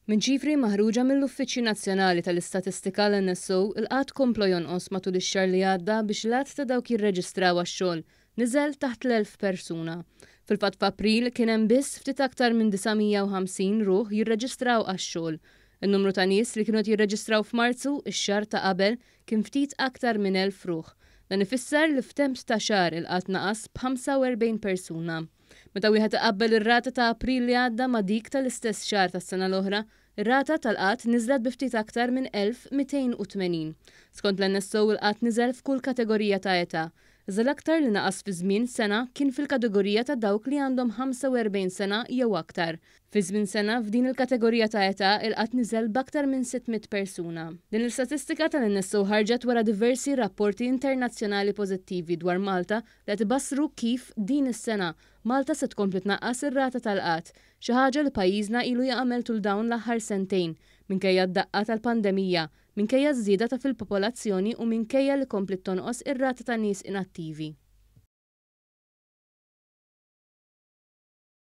Minn ċifri maħruġa mill-Uffiċċju Nazzjonali tal-Istatistika l-NSO, il-qgħad kompla jonqos matul ix-xahar li għadda biex l-għadd ta' dawk jirreġistraw għax-xogħol niżel taħt l-1,000 persuna. Fil-fatt f'April kien hemm biss ftit aktar minn 950 ruħ jirreġistraw għax-xogħol. In-numru ta' nies li kienu qed jirreġistraw f'Marzu, ix-xahar ta' qabel, kien ftit aktar minn 1,000 ruħ. Dan ifisser li f'temp ta' xahar il-qgħad naqas b'45 persuna. Meta wieħed iqabbel ir-rata ta' April li għadda ma' dik tal-istess xahar tas-sena l-oħra, ir-rata tal-qgħad niżlet bi ftit aktar minn 1,280. Skont l-NSO il-qgħad niżel f'kull kategorija ta' età. Iżda l-aktar li naqas fi żmien sena kien fil-kategorija ta' dawk li għandhom 45 sena jew aktar. Fi żmien sena, f'din il-kategorija ta' età, il-qgħad niżel b'aktar minn 600 persuna. Din l-istatistika tal-NSO ħarġet wara diversi rapporti internazzjonali pożittivi dwar Malta li qed ibassru kif, din is-sena, Malta se tkompli tnaqqas ir-rata tal-qgħad, xi ħaġa li pajjiżna ilu jagħmel tul dawn l-aħħar sentejn, minkejja d-daqqa tal-pandemija, minkejja ż-żieda ta' fil-popolazzjoni u minkejja li kompliet tonqos ir-rata ta' nies inattivi.